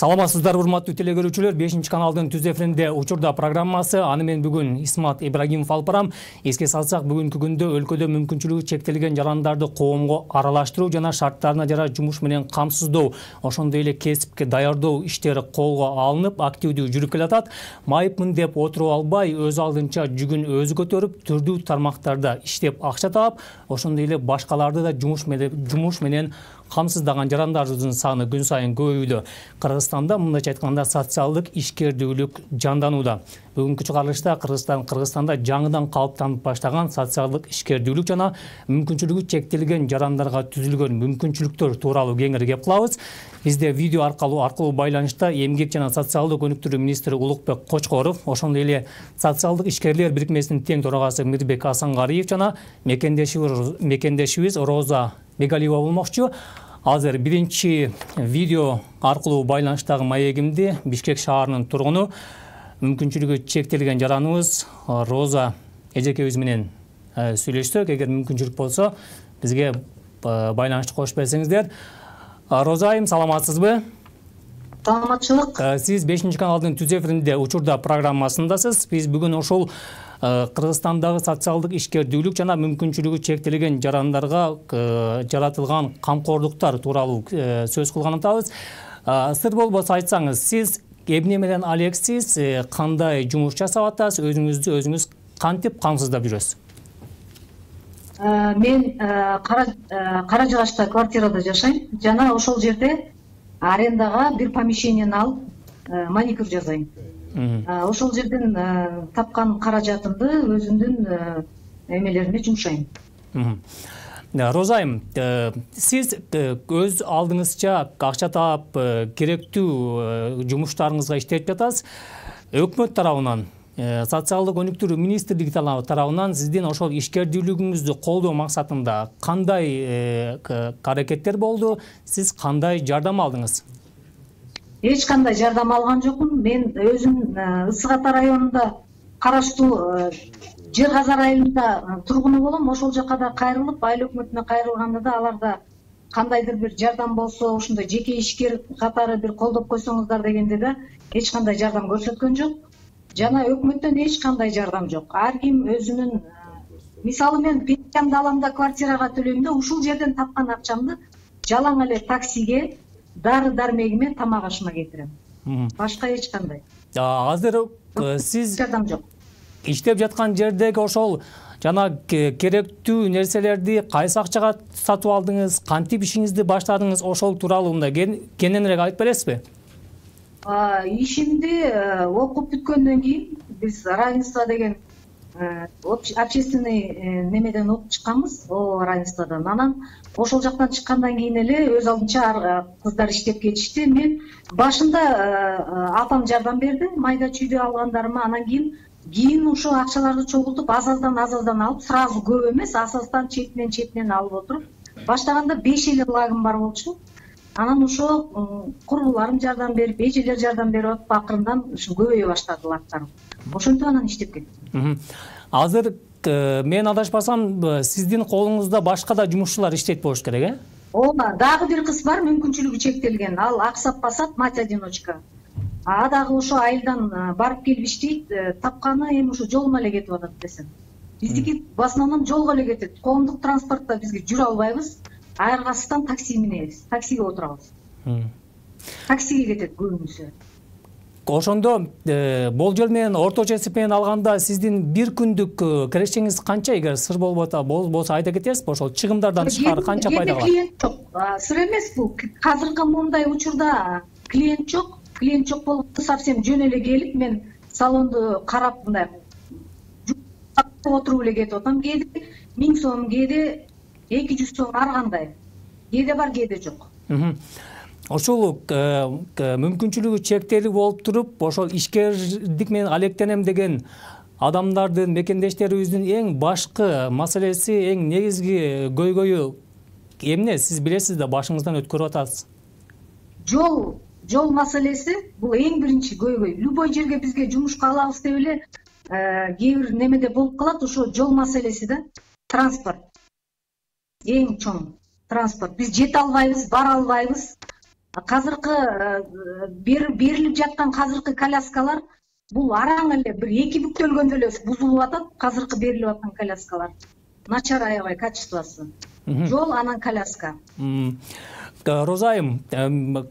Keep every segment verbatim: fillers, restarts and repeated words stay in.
Саламатсыздар, урматтуу телекөрүүчүлөр. бешинчи каналдын түз эфиринде учурда программасы. Аны мен бүгүн Исмат Ибрагимов алып барам. Эске салсак, бүгүнкү күндө өлкөдө мүмкүнчүлүгү чектелген жарандарды коомго аралаштыруу жана шарттарына жараш жумуш менен камсыздоо, ошондой эле кесипке даярдоо иштери колго алынып, активдүү жүрүп келатат. Майыпмын деп отуруп албай, өз алдынча жүгүн өзү көтөрүп, түрдүү тармактарда иштеп акча таап, ошондой эле башкаларды да жумуш менен жумуш менен камсыздаган жарандардын саны күн сайын көбөйүүдө. Кыргызстанда мындайча айтканда социалдык ишкердүүлүк жанданууда. Бүгүнкү чыгарылышта Кыргызстан Кыргызстанда жаңыдан калыптанып баштаган социалдык ишкердүүлүк жана мүмкүнчүлүгү чектелген жарандарга түзүлгөн мүмкүнчүлүктөр тууралуу кеңири кеп кылабыз. Бизде видео аркылуу аркылуу байланышта эмгек жана социалдык өнүктүрүү министри Улукбек Кочкоров, ошондой эле социалдык ишкерлер бирикмесинин тең төрагасы Мирбек Асангариев жана мекендешибиз мекендешибиз Роза Бегалиева болмокчу. Азыр биринчи видео аркылуу байланыштагы маегимди Бишкек шаарынын тургуну, мүмкүнчүлүгү чектелген жараныбыз Роза эжекебиз менен сүйлөшсөк, эгер мүмкүнчүлүк болсо, бизге байланышты кошуп берсеңиздер. Роза айым, саламатсызбы? Саламатчылык. Сиз бешинчи каналдын түз эфиринде учурда программасындасыз. Биз бүгүн ошол Кыргызстандагы социалдык ишкердүүлүк жана мүмкүнчүлүгү чектелген жарандарга жаратылган камкордуктар тууралуу сөз кылган атабыз. Сыр болбосо айтсаңыз, сиз эмне менен алексиз, кандай жумуш жасап атасыз, өзүңүздү өзүңүз кантип камсыздап жүрөсүз? Мен Кара Жыгачта квартирада жашайм жана ошол жерде арендага бир помещениени алып маникюр жасайм. Ошол жерден тапкан каражатымды өзүмдүн эмелериме жумшайм. Роза айым, сиз өз алдыңызча акча таап, керектүү жумуштарыңызга иштеп жатасыз. Өкмөт тарабынан, социалдык өнүктүрүү министрлиги тарабынан сиздин ошол ишкердүүлүгүңүздү колдоо максатында кандай аракеттер болду? Сиз кандай жардам алдыңыз? Эч кандай жардам алган жокмун. Мен өзүм Ысык Ата районунда караштуу Жер Казар айылында тургуну болом. Ошол жака да кайрылып, айыл өкмөтүнө кайрылганда да аларда кандайдыр бир жардам болсо, ошондой жеке ишкер катары бир колдоп койсоңуздар дегенде да эч кандай жардам көрсөткөн жок. Жана өкмөттөн эч кандай жардам жок. Ар ким өзүнүн, мисалы мен пенсиямды алам да квартирага төлөйм да, ушул жерден тапкан акчамды жалаң эле таксиге, дары дармегиме, тамак ашыма кетирем. Башка эч кандай. Азыр сиз жардам жок. Иштеп жаткан жердеги ошол жана керектүү нерселерди кайсы акчага сатып алдыңыз, кантип ишиңизди баштадыңыз, ошол тууралуу мындай кененирээк айтып бересизби? Ишимди окуп бүткөндөн кийин биз равенство деген общественный немеден окуп чыкканбыз, о равенстводан. Анан ошол жактан чыккандан кийин эле өз алдынча кыздар иштеп кетишти. Мен башында апам жардам берди, майда чүйдө алгандарыма. Анан кийин кийин ошо акчаларды чогултуп, аз-аздан аз-аздан алып, сразу көп эмес, аз-аздан четинен четинен алып отуруп, баштаганда беш эле лагым бар болчу. Анан ошо курбуларым жардам берип, эжелер жардам берип атып, акырындан ушу көбөйө баштады лактарым. Ошентип анан иштеп кеттим. Азыр мен адашпасам, сиздин колуңузда башка да жумушчулар иштейт болуш керек, э? Ооба, дагы бир кыз бар, мүмкүнчүлүгү чектелген. Ал Аксап басат, мать одиночка. А дагы ошо айылдан барып келип иштейт, тапканы эми ушу жолуна эле кетип атат десем. Биздики в основном жолго эле кетет. Коомдук транспортто бизге жүрө албайбыз. Айыргасыздан такси минебиз, таксиге отурабыз. Таксиге кетет көбүнчөсү. Ошондо болжол менен орточо эсеп менен алганда сиздин бир күндүк кирешеңиз канча, эгер сыр болбото болсо айта кетесизби? Ошол чыгымдардан тышкары канча пайда калат? Клиент жок. Сыр эмес бул. Азыркы мындай учурда клиент жок. Клиент жок болуп, совсем жөн эле келип, мен салонду карап мындай отуруп эле кетип атам. Кээде миң сом, кээде эки жүз сом, ар кандай. Кээде бар, кээде жок. Ошол мүмкүнчүлүгү чектелүү болуп туруп, ошол ишкердик менен алектенем деген адамдардын, мекендештерибиздин эң башкы маселеси, эң негизги көйгөйү эмне? Сиз билесиз да, башыңыздан өткөрүп атасыз. Жол, жол маселеси бул эң биринчи көйгөй. Любой жерге бизге жумушка алабыз деп эле кээ бир немеде болуп калат, ошо жол маселеси да. Транспорт. Эң чоң транспорт. Биз жете албайбыз, бара албайбыз. Азыркы берилип жаткан азыркы коляскалар бул араң эле бир эки бүктөлгөндө эле бузулуп атат. Азыркы берилип аткан коляскалар начар, аябай качествосы. Жол анан коляска. Роза айым,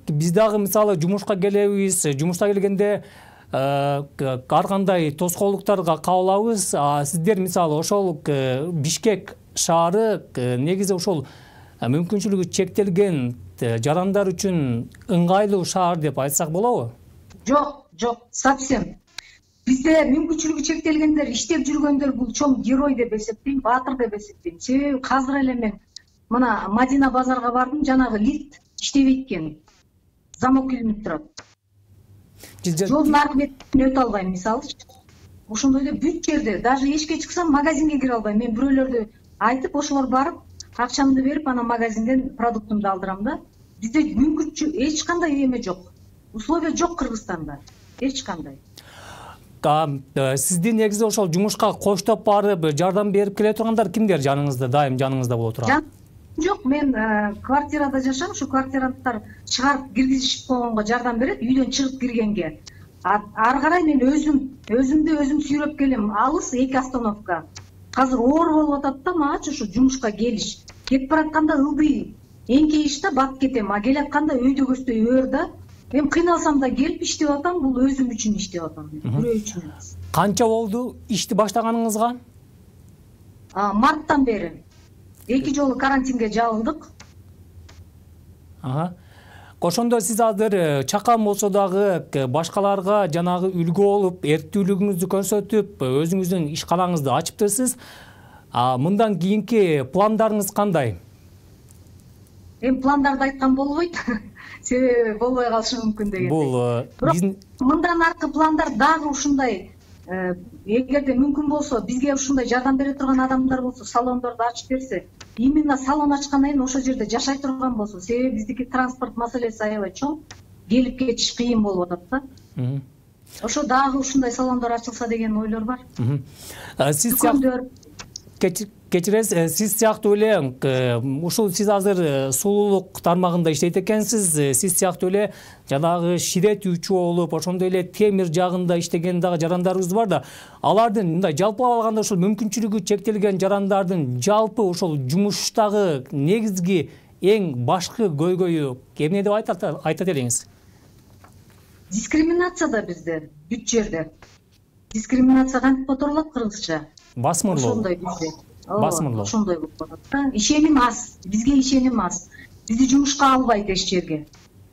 биз дагы мисалы жумушка келебиз, жумушта келгенде ар кандай тоскоолдуктарга кабылабыз. Сиздер мисалы ошол Бишкек шаары негизи ошол мүмкүнчүлүгү чектелген жарандар үчүн ыңгайлуу шаар деп айтсак болобу? Жок, жок, совсем. Бизде мүмкүнчүлүгү чектелгендер, иштеп жүргөндөр бул чоң герой деп эсептейм, баатыр деп эсептейм. Себеби азыр эле мен мына Мадина базарга бардым, жанагы лифт иштебейт экен. Замок илинип турат. Жолдун аркы бетине өтө албайм, мисалычы. Ошондой эле бүт жерде, даже эшикке чыксам магазинге кире албайм. Мен бирөөлөрдү айтып, ошолор барып, акчамды берип, анан магазинден продуктумду алдырам да. Бизде мүмкүнчү эч кандай эме жок. Условия жок Кыргызстанда. Эч кандай. Сизди негизи ошол жумушка коштоп барып, жардам берип келе тургандар кимдер жаныңызда, дайым жаныңызда боло турат? Жок, мен квартирада жашайм, ушу квартиранттар чыгарып киргизишип койгонго жардам берет, үйдөн чыгып киргенге. Ары карай мен өзүм, өзүмдү өзүм сүйрөп келем. Алыс эки остановка. Азыр оор болуп атат да мачы ушу жумушка келиш. Кетип баратканда ылдый эңкейиш да батып кетем, а келатканда өйдө көздөй өр да. Мен кыйналсам да келип иштеп атам, бул өзүм үчүн иштеп атам, бирөө үчүн эмес. Канча болду ишти баштаганыңызга? Марттан бери. Эки жолу карантинге жабылдык. Ага. Ошондо сиз азыр чакан болсо дагы башкаларга жанагы үлгү болуп, эрктүүлүгүңүздү көрсөтүп, өзүңүздүн ишканаңызды ачыптырсыз. Мындан кийинки пландарыңыз кандай? Эми пландарды айткан болбойт. Себеби болбой калышы мүмкүн деген. Бул мындан аркы пландар дагы ушундай, эгерде мүмкүн болсо, бизге ушундай жардам бере турган адамдар болсо, салондорду ачып берсе, именно салон ачкандан кийин ошол жерде жашай турган болсо, себеби биздики транспорт маселеси аябай чоң, келип кетиш кыйын болуп атат да. Ошо дагы ушундай салондор ачылса деген ойлор бар. Сиз кечиресиз, сиз сыяктуу эле ушул сиз азыр сулуулук тармагында иштейт экенсиз, сиз сыяктуу эле жанагы ширетүүчү болуп, ошондой эле темир жагында иштеген дагы жарандарыбыз бар да. Алардын мындай жалпылап алганда ошол мүмкүнчүлүгү чектелген жарандардын жалпы ошол жумуштагы негизги эң башкы көйгөйү эмне деп айтат элеңиз? Дискриминация да бизде бүт жерде. Дискриминация кантип которулат кыргызча? Басмырлоо. Ошондой бизде. Басмырлоо. Ошондой болуп атат да. Ишеним аз, бизге ишеним аз. Бизди жумушка албайт эч жерге.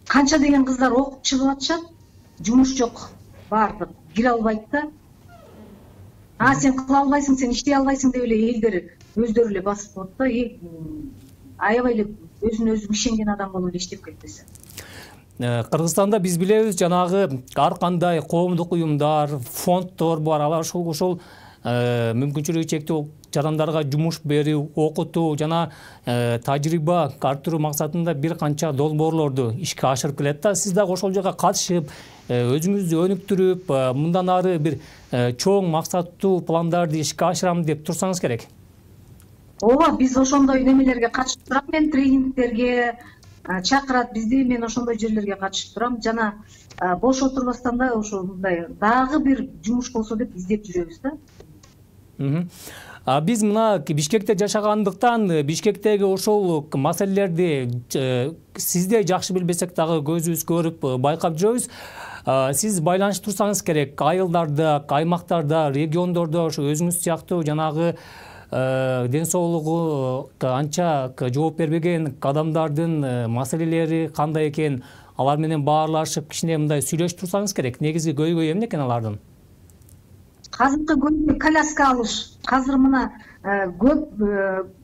Канча деген кыздар окуп чыгып атышат, жумуш жок, бардык, кире албайт да. А сен кыла албайсың, сен иштей албайсың деп эле элдер өздөрү эле басып коет да. Аябай эле өзүнө өзү ишенген адам болуп эле иштеп кетпесе. Кыргызстанда биз билебиз, жанагы ар кандай коомдук уюмдар, фонддор бар, алар ушул ушул мүмкүнчүлүгү чектүү жарандарга жумуш берүү, окутуу жана тажрыйба арттыруу максатында бир канча долбоорлорду ишке ашырып келет да. Сиз дагы ошол жерге катышып, өзүңүздү өнүктүрүп, мындан ары бир чоң максаттуу пландарды ишке ашырам деп турсаңыз керек. Ооба, биз ошондой немелерге катышып турам, мен тренингтерге чакырат бизди, мен ошондой жерлерге катышып турам. Жана бош отурбастан да ошондой дагы бир жумуш болсо деп издеп жүрөбүз да. Биз мына Бишкекте жашагандыктан, Бишкектеги ошол маселелерди сизде жакшы билбесек дагы көзүбүз көрүп байкап жүрөбүз. Сиз байланыштырсаңыз керек, айылдарда, аймактарда, региондордо ошо өзүңүз сыяктуу жанагы ден соолугу анча жооп бербеген адамдардын маселелери кандай экен, алар менен баарлашып кичине мындай сүйлөшүп турсаңыз керек. Негизги көйгөй эмне экен алардын? Азыркы көйгөй коляска алыш. Азыр мына көп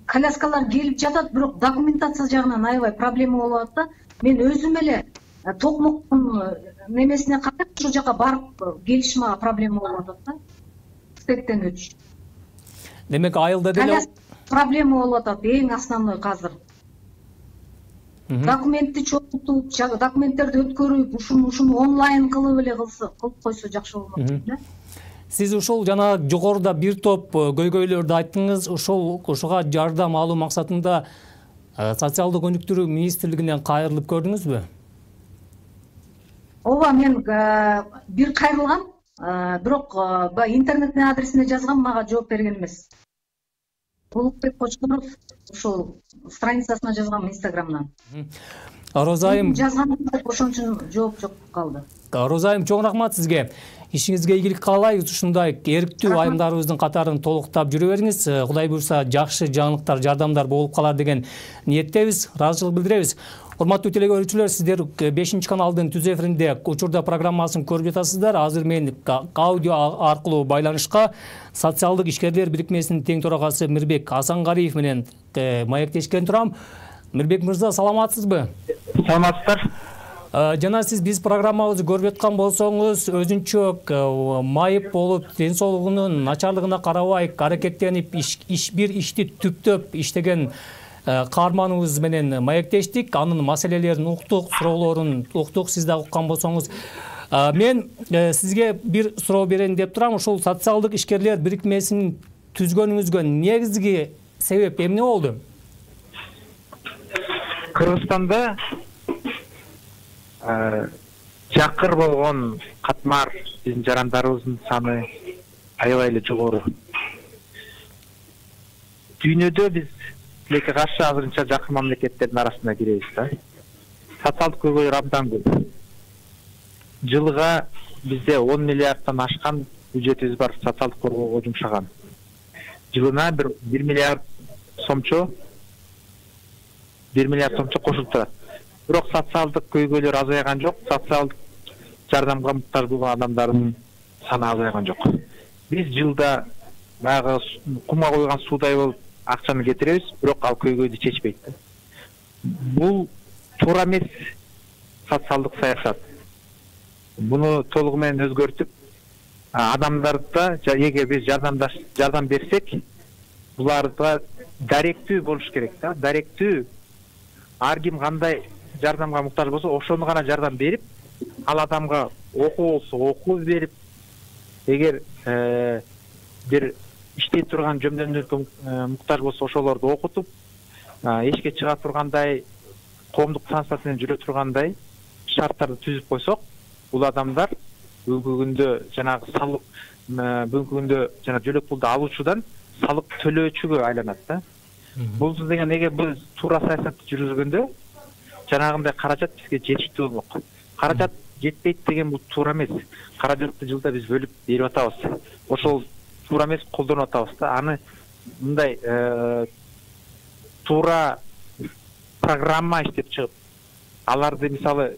коляскалар келип жатат, бирок документация жагынан аябай проблема болуп атат да. Мен өзүм эле токмоктун немесине карап ошол жака барып келиш мага проблема болуп атат да. Стектен өтүш. Демек айылда деле проблема болуп атат, эң основной азыр. Документти чогултуп, документтерди өткөрүп, ушуну ушуну онлайн кылып эле кылса, кылып койсо жакшы болмок да. Сиз ушул жана жогоруда бир топ көйгөйлөрдү айттыңыз. Ошол ошого жардам алуу максатында социалдык өнүктүрүү министрлигинен кайрылып көрдүңүзбү? ооба, мен бир кайрылгам, бирок баягы интернеттин адресине жазгам, мага жооп берген эмес. Улукбек Кочкоров ушул страницасына жазгам Инстаграмдан. Роза айым жазгам, ошон үчүн жооп жок калды. Роза айым, чоң рахмат сизге. Ишиңизге ийгилик каалайбыз. Ушундай эрктүү айымдарыбыздын катарын толуктап жүрө бериңиз. Кудай буйрса жакшы жаңылыктар, жардамдар болуп калар деген ниеттебиз, ыраазычылык билдиребиз. Урматтуу телегөрүүчүлөр, сиздер бешинчи каналдын түз эфиринде учурда программасын көрүп жатасыздар. Азыр мен аудио аркылуу байланышка социалдык ишкерлер бирикмесинин тең төрагасы Мирбек Асангариев менен маектешкен турам. Мирбек мырза, саламатсызбы? Саламатсыздар. Жана сиз биз программабызды көрүп аткан болсоңуз, өзүнчө майып болуп, ден соолугунун начарлыгына карабай аракеттенип, иш бир ишти түптөп иштеген каарманыбыз менен маектештик. Анын маселелерин уктук, суроолорун уктук, сиз да уккан болсоңуз. Мен сизге бир суроо берейин деп турам. Ушул социалдык ишкерлер бирикмесин түзгөнүңүзгө негизги себеп эмне болду? Кыргызстанда жакыр болгон катмар биздин жарандарыбыздын саны аябай эле жогору. Дүйнөдө биз тилекке каршы азырынча жакыр мамлекеттердин арасына киребиз да. Социалдык көйгөйлөр абдан көп. Жылга бизде он миллиарддан ашкан бюджетибиз бар социалдык коргоого жумшаган. Жылына бир бир миллиард сомчо бир миллиард сомчо кошулуп турат. Бирок социалдык көйгөйлөр азайган жок, социалдык жардамга муктаж болгон адамдардын саны азайган жок. Биз жылда баягы кумга койгон суудай болуп акчаны кетиребиз, бирок ал көйгөйдү чечпейт. Бул туура эмес социалдык саясат. Буну толугу менен өзгөртүп, адамдарда эгер биз жардамдаш жардам берсек, буларга даректүү болуш керек да, даректүү. Ар ким кандай жардамга муктаж болсо, ошону гана жардам берип, ал адамга окуу болсо окуу берип, эгер бир иштей турган жөндөмдөргө муктаж болсо, ошолорду окутуп, эшикке чыга тургандай, коомдук транспорт менен жүрө тургандай шарттарды түзүп койсок, бул адамдар бүгүнкү күндө жанагы салык, бүгүнкү күндө жана жөлөк пулду алуучудан салык төлөөчүгө айланат да. Бул деген эгер биз туура саясатты жүргүзгөндө, жанагындай каражат бизге жетиштүү болмок. Каражат жетпейт деген бул туура эмес. Каражатты жылда биз бөлүп берип атабыз. Ошол туура эмес, колдонуп атабыз да. Аны мындай туура программа иштеп чыгып, аларды мисалы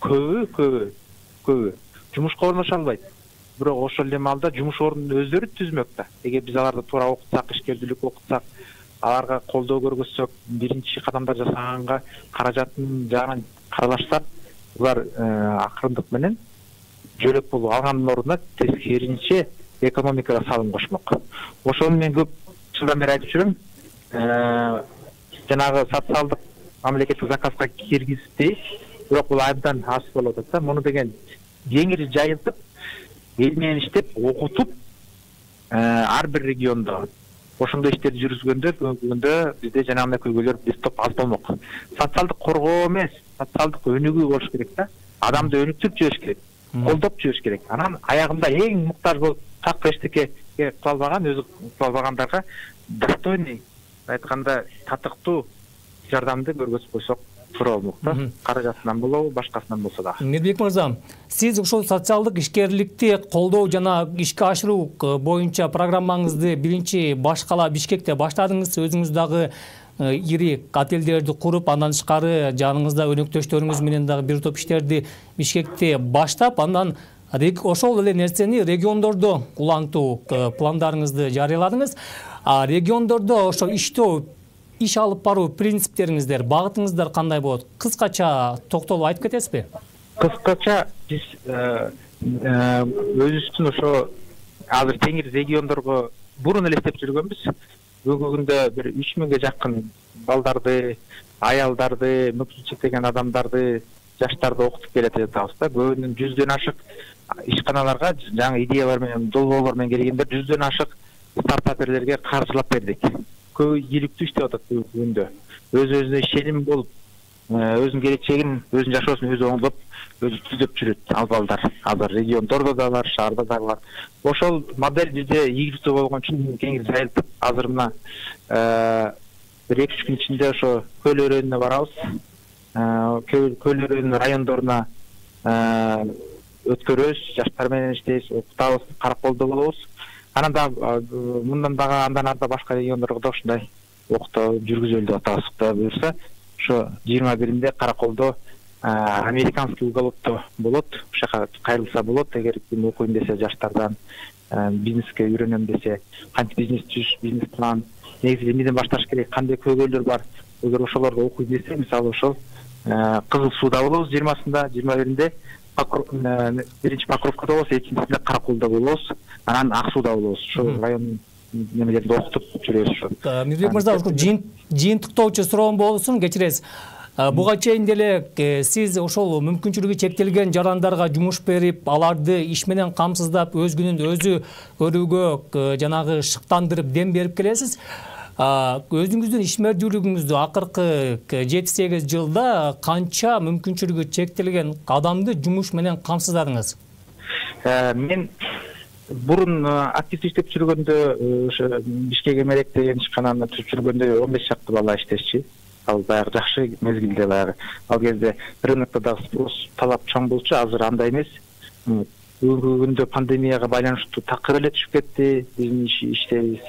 көбү көбү көбү жумушка орношо албайт. Бирок ошол эле маалда жумуш ордунун өздөрү түзмөк да. Эгер биз аларды туура окутсак, ишкердүүлүк окутсак, аларга колдоо көргөзсөк, биринчи кадамдар жасаганга каражаттын жагынан каралашсак, булар акырындык менен жөлөк болуп алгандын ордуна тескеринче экономикага салым кошмок. Ошону мен көп жылдан бери айтып жүрөм. Жанагы социалдык мамлекеттик заказга киргизбей, бирок бул абдан аз болуп атат да. Муну деген кеңири жайылтып, эл менен иштеп, окутуп, ар бир региондо ошондой иштерди жүргүзгөндө, бүгүндө бизде жанагындай көйгөйлөр бир топ аз болмок. Социалдык коргоо эмес, социалдык өнүгүү болуш керек да. Адамды өнүктүрүп жибериш керек, колдоп жибериш керек. Анан аягында эң муктаж болуп так эчтеке кыла албаган, өзү кыла албагандарға достойный, айтканда татыктуу жардамды көргөзүп койсок туура болмок да. Каражатынан болобу, башкасынан болсо да. Мирбек мырза, сиз ушул социалдык ишкерликти колдоо жана ишке ашыруу боюнча программаңызды биринчи баш кала Бишкекте баштадыңыз. Өзүңүз дагы ири отелдерди куруп, андан тышкары жаныңызда өнөктөштөрүңүз менен дагы бир топ иштерди Бишкекте баштап, андан ошол эле нерсени региондордо улантуу пландарыңызды жарыяладыңыз. А региондордо ошо иштөө, иш алып баруу принциптериңиздер, багытыңыздар кандай болот? Кыскача токтолуп айтып кетесизби? Кыскача биз өзүбүздүн ошо азыр теңир региондорго бурун эле иштеп жүргөнбүз. Бүгүнкү күндө бир үч миңге жакын балдарды, аялдарды, мүмкүнчүлүк чектеген адамдарды, жаштарды окутуп келе жатабыз да. Көбүнүн жүздөн ашык ишканаларга жаңы идеялар менен, долбоорлор менен келгендер жүздөн ашык стартаперлерге каржылап бердик. Көбү ийгиликтүү иштеп атат бүгүнкү күндө. Өз өзүнө ишеним болуп, өзүнүн келечегин, өзүнүн жашоосун өзү оңдоп, өзү түзөп жүрөт ал балдар. Азыр региондордо да бар, шаарда да бар. Ошол модель бизде ийгиликтүү болгон үчүн кеңири жайылтып, азыр мына бир эки үч күн ичинде ошо Көл өрөөнүнө барабыз. Көл өрөөнүнүн райондоруна өткөрөбүз, жаштар менен иштейбиз, окутабыз, Караколдо болобуз. Анан да мындан дагы андан арда башка региондорго да ушундай окутуу жүргүзөлү деп атабыз. Кудай буюрса, ошо жыйырма биринде Караколдо американский уголокто болот. Ошол жака кайрылса болот, эгер ким окуйм десе жаштардан, бизнеске үйрөнөм десе, кантип бизнес түзүш, бизнес план, негизи эмнеден башташ керек, кандай көйгөйлөр бар. Эгер ошолорго окуйм десе, мисалы ошол Кызыл Сууда болобуз жыйырмасында, жыйырма биринде биринчи Покровкада болобуз, экинчисинде Караколдо болобуз, анан Ак Сууда болобуз. Ошол район немелеринде окутуп жүрөбүз ошо. Мирбек мырза, ушул жыйынтыктоочу суроом болсун, кечиресиз. Буга чейин деле сиз ошол мүмкүнчүлүгү чектелген жарандарга жумуш берип, аларды иш менен камсыздап, өз күнүн өзү көрүүгө жанагы шыктандырып, дем берип келесиз. Өзүңүздүн ишмердүүлүгүңүздү акыркы жети сегиз жылда канча мүмкүнчүлүгү чектелген адамды жумуш менен камсыздадыңыз? Мен бурун активдүү иштеп жүргөндө, ошо Бишкек Эмерек деген ишкананы түзүп жүргөндө он беш чакты бала иштешчи. Ал баягы жакшы мезгилде баягы. Ал кезде рынокто дагы спрос талап чоң болчу, азыр андай эмес. Бүгүнкү күндө пандемияга байланыштуу такыр эле түшүп кетти биздин иштебиз.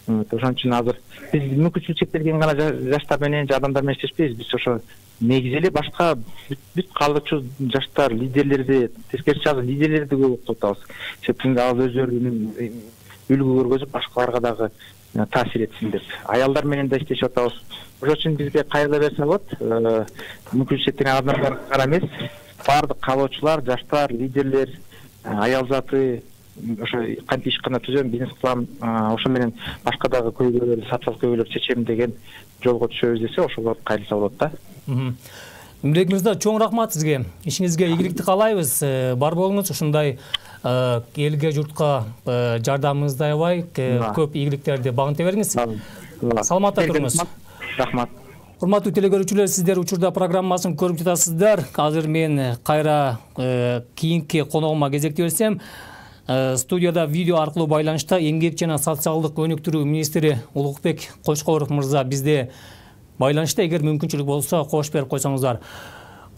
Ошон үчүн азыр биз мүмкүнчүлүгү чектелген гана жаштар менен, адамдар менен иштешпейбиз. Биз ошо негизи эле башка бүт калгычу жаштар, лидерлерди, тескерисинче азыр лидерлерди көп окутуп атабыз. Себеби ал өздөрүнүн үлгү көргөзүп, башкаларга дагы таасир этсин деп. Аялдар менен да иштешип атабыз. Ошон үчүн бизге кайрыла берсе болот. Мүмкүнчүлүгү чектелген адамдар гана эмес, баардык каалоочулар, жаштар, лидерлер, аял заты ошо кантип ишкана түзөм, бизнес кылам, ошо менен башка дагы көйгөйлөрдү, социалдык көйгөйлөрдү чечем деген жолго түшөбүз десе, ошолор кайрылса болот да. Мирбек мырза, чоң рахмат сизге. Ишиңизге ийгиликти каалайбыз. Бар болуңуз, ушундай элге, журтка жардамыңызды аябай, көп ийгиликтерди багынта бериңиз. Саламатта туруңуз. Рахмат. Урматтуу телекөрүүчүлөр, сиздер учурда программасын көрүп жатасыздар. Азыр мен кайра кийинки коногума кезекти берсем, студияда видео аркылуу байланышта эмгек жана социалдык өнүктүрүү министри Улукбек Кочкоров мырза бизде байланышта. Эгер мүмкүнчүлүк болсо, кош берип койсоңуздар.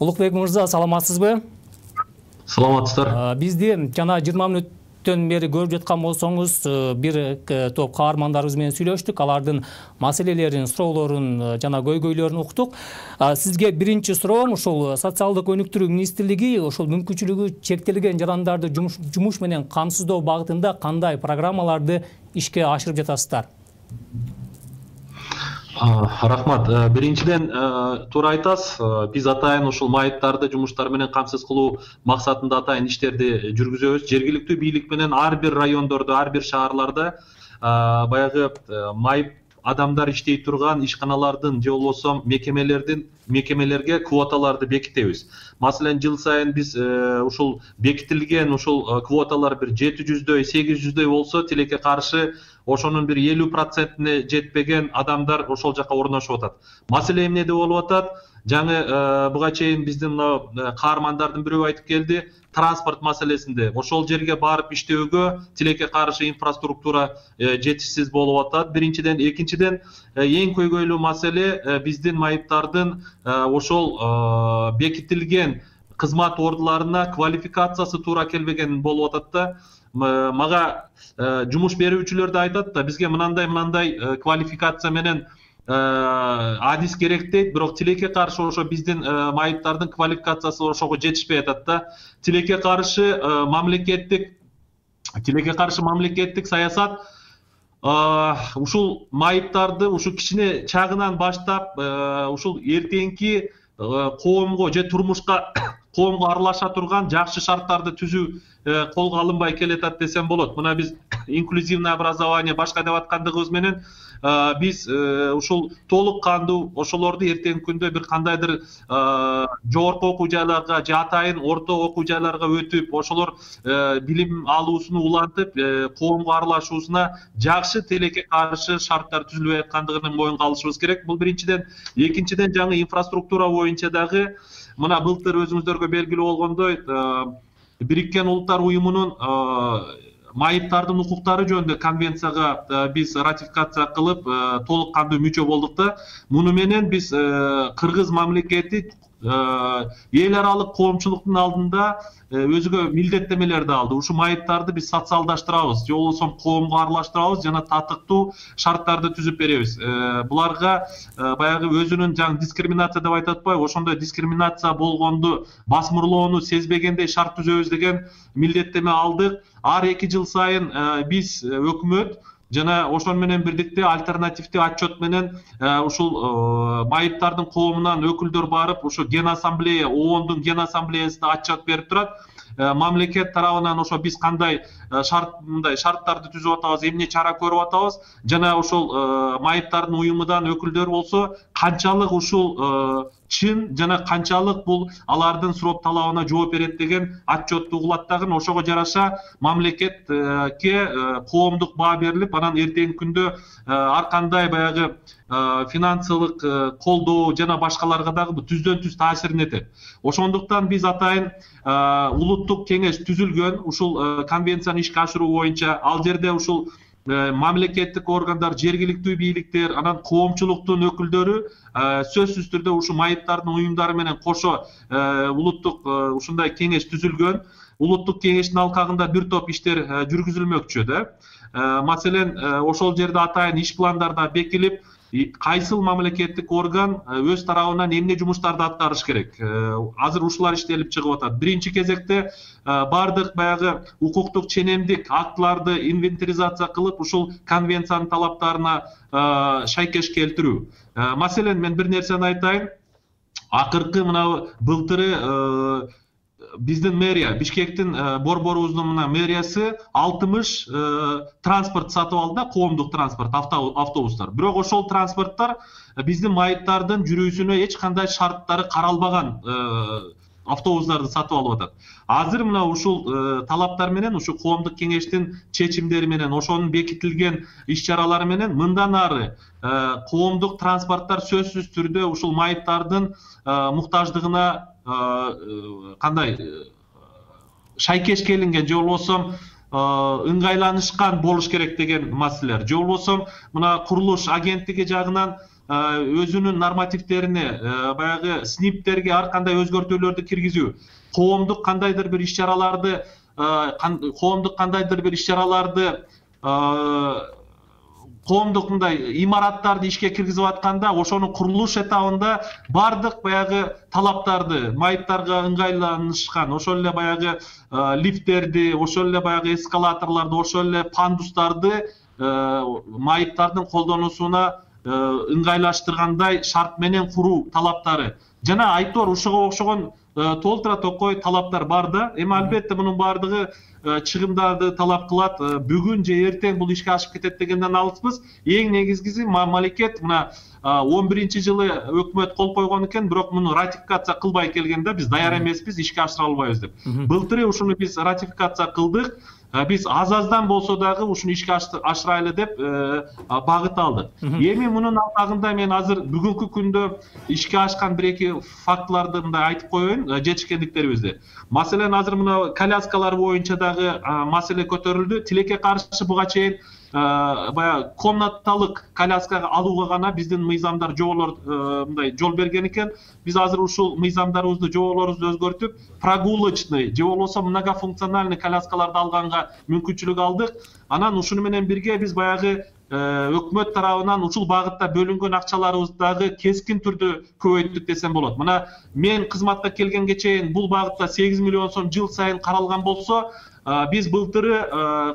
Улукбек мырза, саламатсызбы? Саламатсыздар. Бизди жана жыйырма мүнөттөн бери көрүп жаткан болсоңуз, бир топ каармандарыбыз менен сүйлөштүк, алардын маселелерин, суроолорун жана көйгөйлөрүн уктук. Сизге биринчи суроом, ушул социалдык өнүктүрүү министрлиги ошол мүмкүнчүлүгү чектелген жарандарды жумуш менен камсыздоо багытында кандай программаларды ишке ашырып жатасыздар? Рахмат. Биринчиден туура айтасыз. Биз атайын ушул майыптарды жумуштар менен камсыз кылуу максатында атайын иштерди жүргүзөбүз. Жергиликтүү бийлик менен ар бир райондордо, ар бир шаарларда баягы майып адамдар иштей турган ишканалардын же болбосо мекемелердин мекемелерге квоталарды бекитебиз. Маселен, жыл сайын биз ушул бекитилген ушул квоталар бир жети жүздөй, сегиз жүздөй болсо, тилекке каршы ошонун бир элүү процентине жетпеген адамдар ошол жака орношуп атат. Маселе эмнеде болуп атат? Жаңы буга чейин биздин мына каармандардын бирөө айтып келди, транспорт маселесинде. Ошол жерге барып иштөөгө тилекке каршы инфраструктура жетишсиз болуп атат. Биринчиден, экинчиден, эң көйгөйлүү маселе биздин майыптардын ошол бекитилген кызмат ордуларына квалификациясы туура келбеген болуп атат да. Мага жумуш берүүчүлөр да айтат да, бизге мынандай-мынандай квалификация менен адис керек дейт, бирок тилекке каршы ошо биздин майыптардын квалификациясы ошого жетишпей атат да. Тилекке каршы мамлекеттик тилекке каршы мамлекеттик саясат ушул майыптарды ушу кичине чагынан баштап ушул эртеңки коомго же турмушка коомго аралаша турган жакшы шарттарды түзүү колго алынбай келатат десем болот. Мына биз инклюзивный образование башка деп аткандыгыбыз менен биз ушул толук кандуу ошолорду эртеңки күндө бир кандайдыр жогорку окуу жайларга же атайын орто окуу жайларга өтүп, ошолор билим алуусуну улантып, коомго аралашуусуна жакшы тилекке каршы шарттар түзүлбөй аткандыгын моюнга алышыбыз керек. Бул биринчиден. Экинчиден, жаңы инфраструктура боюнча дагы мына былтыр өзүңүздөргө белгилүү болгондой Бириккен Улуттар уюмунун майыптардын укуктары жөнүндө конвенцияга биз ратификация кылып толук кандуу мүчө болдук да. Муну менен биз Кыргыз мамлекети эл аралык коомчулуктун алдында өзүгө милдеттемелерди алды. Ушу майыптарды биз социалдаштырабыз, же болбосо коомго аралаштырабыз жана татыктуу шарттарды түзүп беребиз. Буларга баягы өзүнүн жаңы дискриминация деп айтып атпайбы, ошондой дискриминация болгонду, басмырлоону сезбегендей шарт түзөбүз деген милдеттеме алдык. Ар эки жыл сайын биз өкмөт жана ошону менен бирдикте альтернативдүү отчет менен ушул майыптардын коомунан өкүлдөр барып, ушу Ген ассамблея, ООНдун Ген ассамблеясына отчет берип турат. Мамлекет тарабынан ошо биз кандай шарт мындай шарттарды түзүп атабыз, эмне чара көрүп атабыз жана ошол майыптардын уюмунан өкүлдөр болсо канчалык ушул чын жана канчалык бул алардын суроо талабына жооп берет деген отчетту угулат дагы. Ошого жараша мамлекетке коомдук баа берилип, анан эртеңки күндө ар кандай баягы финансылык колдоо жана башкаларга дагы түздөн түз таасирин этет. Ошондуктан биз атайын улуттук кеңеш түзүлгөн ушул конвенцияны ишке ашыруу боюнча. Ал жерде ушул мамлекеттик органдар, жергиликтүү бийликтер, анан коомчулуктун өкүлдөрү сөзсүз түрдө ушу майыптардын уюмдары менен кошо улуттук ушундай кеңеш түзүлгөн. Улуттук кеңештин алкагында бир топ иштер жүргүзүлмөкчү да. Маселен, ошол жерде атайын иш пландарда бекилип, кайсыл мамлекеттик орган өз тарабынан эмне жумуштарды аткарыш керек. Азыр ушулар иштелип чыгып атат. Биринчи кезекте бардык баягы укуктук ченемдик актыларды инвентаризация кылып, ушул конвенциянын талаптарына шайкеш келтирүү. Маселен, мен бир нерсени айтайын. Акыркы мына былтыры биздин мэрия, Бишкектин борборубуздун мына мэриясы алтымыш транспорт сатып алды да, коомдук транспорт, автобустар. Бирок ошол транспорттор биздин майыптардын жүрүүсүнө эч кандай шарттары каралбаган автобустарды сатып алып атат. Азыр мына ушул талаптар менен, ушу коомдук кеңештин чечимдери менен, ошонун бекитилген иш-чаралары менен мындан ары коомдук транспорттор сөзсүз түрдө ушул майыптардын муктаждыгына кандай шайкеш келинген, же болбосо ыңгайланышкан болуш керек деген маселелер. Же болбосо мына курулуш агенттиги жагынан өзүнүн нормативдерине, баягы сниптерге ар кандай өзгөртүүлөрдү киргизүү, коомдук кандайдыр бир иш-чараларды, коомдук кандайдыр бир иш-чараларды коомдук мындай имараттарды ишке киргизип атканда, ошонун курулуш этабында бардык баягы талаптарды, майыптарга ыңгайланышкан, ошол эле баягы лифттерди, ошол эле баягы эскалаторлорду, ошол эле пандустарды майыптардын колдонуусуна ыңгайлаштыргандай шарт менен куруу талаптары. Жана айтор ушуга окшогон толтура токой талаптар бар да. Эми албетте мунун бардыгы чыгымдарды талап кылат. Бүгүн же эртең бул ишке ашып кетет дегенден алыспыз. Эң негизгиси мамлекет мына он биринчи жылы өкмөт кол койгон экен, бирок муну ратификация кылбай келгенде биз даяр эмеспиз, ишке ашыра албайбыз деп. Былтыры ушуну биз ратификация кылдык. Биз аз-аздан болсо дагы ушуну ишке ашырайлы деп багыт алдык. Эми мунун алкагында мен азыр бүгүнкү күндө ишке ашкан бир-эки фактыларды мындай айтып коеюн, жетишкендиктерибизди. Маселен, азыр мына коляскалар боюнча дагы маселе көтөрүлдү. Тилекке каршы буга чейин баягы комнаталык коляскага алууга гана биздин мыйзамдар жоболор мындай жол берген экен. Биз азыр ушул мыйзамдарыбызды, жоболорубузду өзгөртүп, прогулочный же болбосо многофункциональный коляскаларды алганга мүмкүнчүлүк алдык. Анан ушуну менен бирге биз баягы өкмөт тарабынан ушул багытта бөлүнгөн акчаларыбызды дагы кескин түрдө көбөйттүк десем болот. Мына мен кызматка келгенге чейин бул багытта сегиз миллион сом жыл сайын каралган болсо, биз былтыры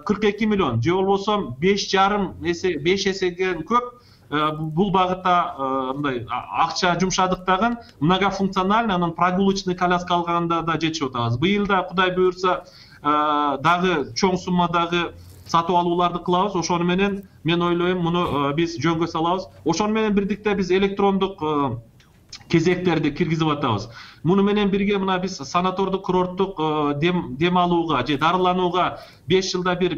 кырк эки миллион же болбосо беш жарым эсе, беш эсеге көп бул багытта мындай акча жумшадык дагы. Многофункциональный, анан прогулочный коляска алганда да жетишип атабыз. Быйыл да Кудай буйрса дагы чоң суммадагы сатып алууларды кылабыз. Ошону менен мен ойлойм, муну биз жөнгө салабыз. Ошону менен бирдикте биз электрондук кезектерди киргизип атабыз. Муну менен бирге мына биз санатордук курорттук дем дем алууга же дарыланууга беш жылда бир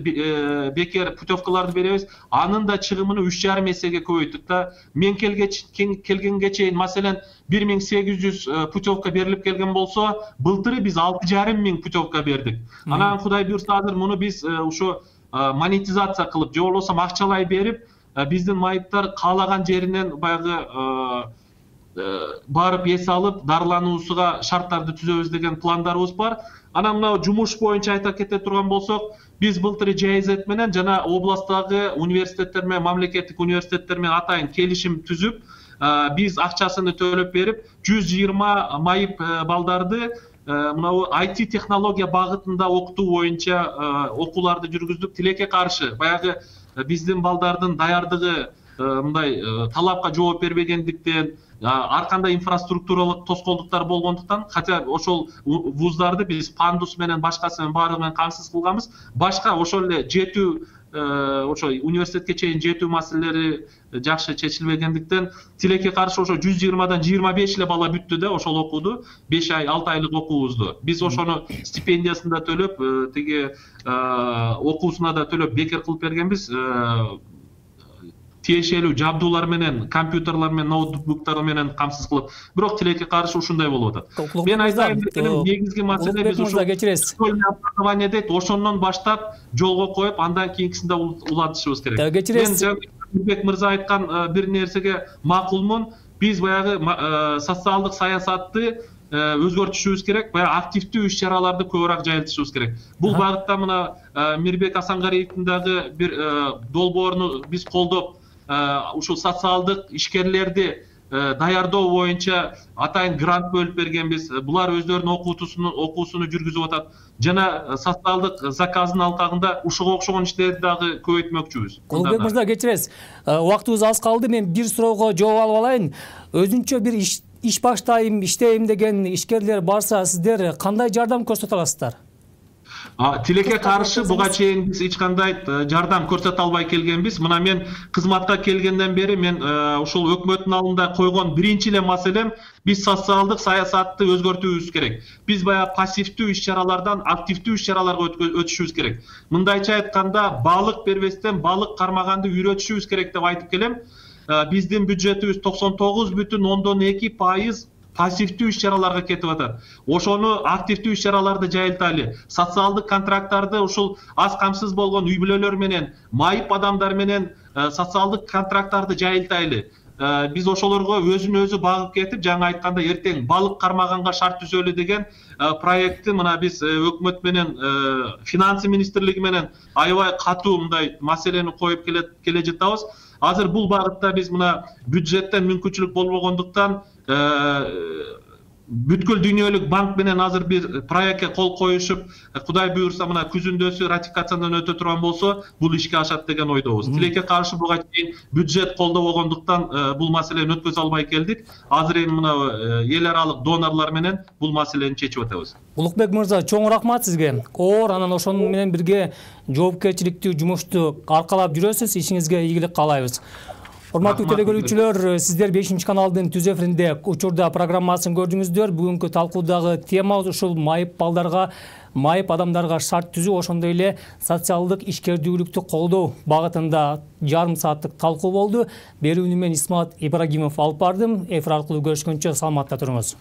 бекер путевкаларды беребиз. Анын да чыгымын үч жарым эсеге көбөйттүк да. Мен келгенге чейин маселен бир миң сегиз жүз путевка берилип келген болсо, былтыры биз алты жарым миң путевка бердик. Анан Кудай буйрса азыр муну биз ошо монетизация кылып, же болбосо акчалай берип, биздин майыптар каалаган жеринен баягы барып эс алып, дарылануусуга шарттарды түзөбүз деген пландарыбыз бар. Анан мына жумуш боюнча айта кете турган болсок, биз былтыры ЖЭЗ менен жана областтагы университеттер менен, мамлекеттик университеттер менен атайын келишим түзүп, биз акчасын төлөп берип, жүз жыйырма майып балдарды мына ай ти технология багытында окутуу боюнча окууларды жүргүздүк. Тилекке каршы баягы биздин балдардын даярдыгы мындай талапка жооп бербегендиктен, ар кандай инфраструктуралык тоскоолдуктар болгондуктан, хотя ошол вуздарды биз пандус менен башкасы менен баары менен камсыз кылганбыз. Башка ошол эле жетүү, ошо университетке чейин жетүү маселелери жакшы чечилбегендиктен, тилекке каршы ошо жүз жыйырмадан жыйырма беш эле бала бүттү да ошол окууду, беш ай, алты айлык окуубузду. Биз ошону стипендиясын да төлөп, тиги окуусуна да төлөп бекер кылып бергенбиз. Тиешелүү жабдуулар менен, компьютерлар менен, ноутбуктар менен камсыз кылып. Бирок тилекке каршы ушундай болуп атат. Мен айтайын дегеним, негизги маселе биз ушул образование дейт, ошондон баштап жолго коюп, андан кийинкисинде улантышыбыз керек. Мен Мирбек мырза айткан бир нерсеге макулмун. Биз баягы социалдык саясатты өзгөртүшүбүз керек, баягы активдүү иш-чараларды көбүрөөк жайылтышыбыз керек. Бул багытта мына Мирбек Асангариевдин дагы бир долбоорун биз колдоп, ушул социалдык ишкерлерди даярдоо боюнча атайын грант бөлүп бергенбиз. Булар өздөрүнүн окуутусуну окуусуну жүргүзүп атат. Жана социалдык заказдын алкагында ушуга окшогон иштерди дагы көбөйтмөкчүбүз. Улукбек мырза, кечиресиз. Убактыбыз аз калды. Мен бир суроого жооп алып алайын. Өзүнчө бир иш иш баштайм, иштейм деген ишкерлер барса, сиздер кандай жардам көрсөтө аласыздар? Тилекке каршы буга чейин биз эч кандай жардам көрсөтө албай келгенбиз. Мына мен кызматка келгенден бери мен ушул өкмөттүн алдында койгон биринчи эле маселем биз социалдык саясатты өзгөртүүбүз керек. Биз баягы пассивдүү иш-чаралардан активдүү иш-чараларга өтүшүбүз керек. Мындайча айтканда, балык бербестен балык кармаганды үйрөтүшүбүз керек деп айтып келем. Биздин бюджетибиз токсон тогуз бүтүн ондон эки пайыз пассивдүү иш-чараларга кетип атат. Ошону активдүү иш-чараларды жайылтайлы. Социалдык контракттарды ушул аз камсыз болгон үй бүлөлөр менен, майып адамдар менен социалдык контракттарды жайылтайлы. Биз ошолорго өзүн өзү багып кетип, жаңа айтканда эртең балык кармаганга шарт түзөлү деген проектти мына биз өкмөт менен, финансы министрлиги менен аябай катуу мындай маселени коюп келе жатабыз. Азыр бул багытта биз мына бюджеттен мүмкүнчүлүк болбогондуктан бүткүл дүйнөлүк банк менен азыр бир проектке кол коюшуп, Кудай буйрса мына күзүндөсү ратификациядан өтө турган болсо, бул ишке ашат деген ойдобуз. Тилекке каршы буга чейин бюджет колдобогондуктан бул маселени өткөзө албай келдик. Азыр эми мына эл аралык донорлор менен бул маселени чечип атабыз. Улукбек мырза, чоң рахмат сизге. Оор, анан ошону менен бирге жоопкерчиликтүү жумушту аркалап жүрөсүз. Ишиңизге ийгилик каалайбыз. Урматтуу телекөрүүчүлөр, сиздер бешинчи каналдын түз эфиринде учурда программасын көрдүңүздөр. Бүгүнкү талкуудагы тема ушул майып балдарга, майып адамдарга шарт түзүү, ошондой эле социалдык ишкердүүлүктү колдоо багытында жарым сааттык талкуу болду. Берүүнү мен Исмат Ибрагимов алып бардым. Эфир аркылуу көрүшкөнчө саламатта туруңуз.